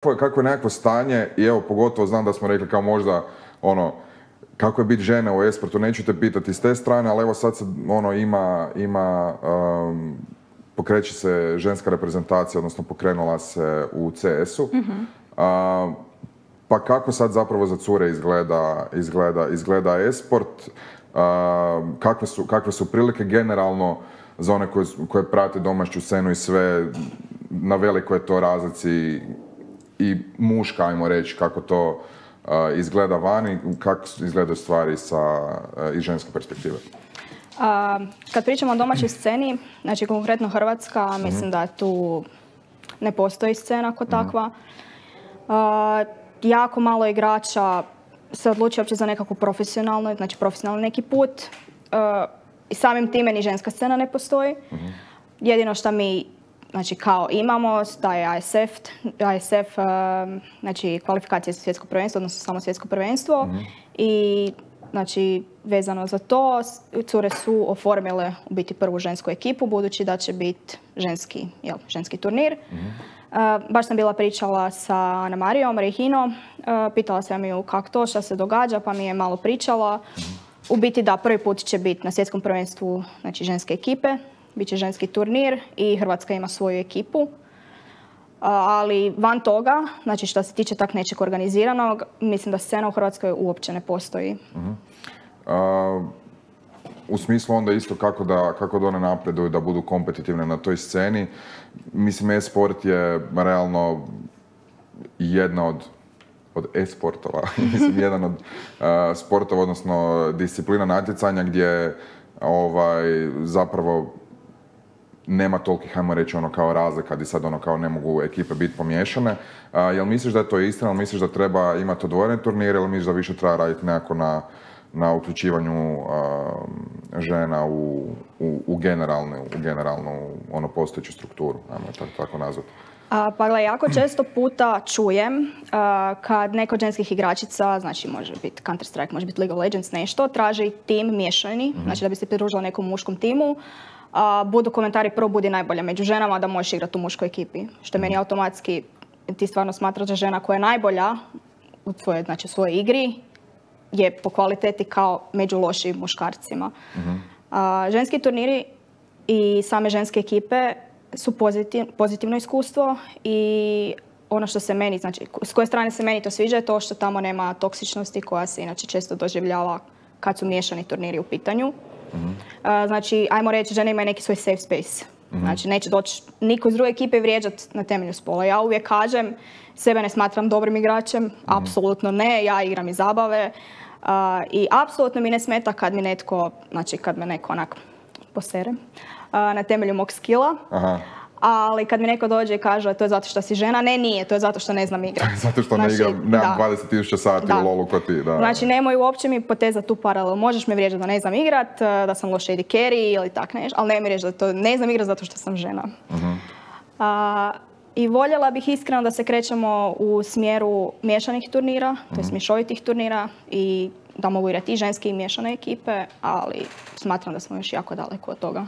Kako je nekakvo stanje i evo pogotovo znam da smo rekli kao možda kako je biti žene u e-sportu, neću te pitati s te strane, ali evo sad se pokreće se ženska reprezentacija, odnosno pokrenula se u CS-u. Pa kako sad zapravo za cure izgleda e-sport? Kakve su prilike generalno za one koje prate domaću scenu i sve, na velikoj je to razlici i muška, ajmo reći, kako to izgleda vani, kako izgledaju stvari iz ženske perspektive? Kad pričamo o domaćoj sceni, znači konkretno Hrvatska, mislim da tu ne postoji scena kao takva. Jako malo igrača se odluči uopće za nekakvu profesionalnu, znači profesionalni neki put. I samim time ni ženska scena ne postoji. Jedino što mi znači kao imamo, taj ASF, znači kvalifikacije za svjetsko prvenstvo, odnosno samo svjetsko prvenstvo. I znači vezano za to, cure su oformile u biti prvu žensku ekipu, budući da će biti ženski turnir. Baš sam bila pričala sa Ana-Marijom Rejhino, pitala sam ju kako to, šta se događa, pa mi je malo pričala. U biti da, prvi put će biti na svjetskom prvenstvu znači ženske ekipe, bit će ženski turnir i Hrvatska ima svoju ekipu. Ali van toga, znači što se tiče tak nečeg organiziranog, mislim da scena u Hrvatskoj uopće ne postoji. U smislu onda isto kako da one napreduju, da budu kompetitivne na toj sceni. Mislim, e-sport je realno jedna od e-sportova, mislim, jedan od sportova, odnosno disciplina natjecanja gdje zapravo nema tolikih, hajmo reći, kao razlika gdje sad kao ne mogu ekipe biti pomiješane. Jel misliš da je to istina, jel misliš da treba imati odvojene turnire ili misliš da više treba raditi nekako na uključivanju žena u generalnu postojeću strukturu, ajmo tako nazvati? Pa gledaj, jako često puta čujem kad neko od ženskih igračica, znači može biti Counter-Strike, može biti League of Legends, nešto, traži tim miješani, znači da bi se pridružila nekom muškom timu, budu komentari prvo budi najbolja među ženama da možeš igrati u muškoj ekipi. Što meni automatski, ti stvarno smatraš da žena koja je najbolja u svojoj igri je po kvaliteti kao među lošim muškarcima. Ženski turniri i same ženske ekipe su pozitivno iskustvo i ono što se meni, znači s koje strane se meni to sviđa je to što tamo nema toksičnosti koja se inače često doživljava kad su miješani turniri u pitanju. Znači, ajmo reći, žene imaju neki svoj safe space. Znači, neće doći niko iz druge ekipe vrijeđati na temelju spola. Ja uvijek kažem, sebe ne smatram dobrim igračem, apsolutno ne, ja igram iz zabave. I apsolutno mi ne smeta kad mi netko, znači kad me neko onak posere na temelju mog skilla. Ali kad mi neko dođe i kaže to je zato što si žena, ne, nije, to je zato što ne znam igrati. Zato što ne igram, nemam 20.000 sati u LoL-u ko ti. Znači nemoj uopće mi potezati tu paralelu. Možeš me vrijeđati da ne znam igrat, da sam loš AD carry ili tak nešto, ali ne mi reći da to ne znam igrat zato što sam žena. I voljela bih iskreno da se krećemo u smjeru miješanih turnira, to je mješovitih turnira i da mogu igrati i ženske i miješane ekipe, ali smatram da smo još jako daleko od toga.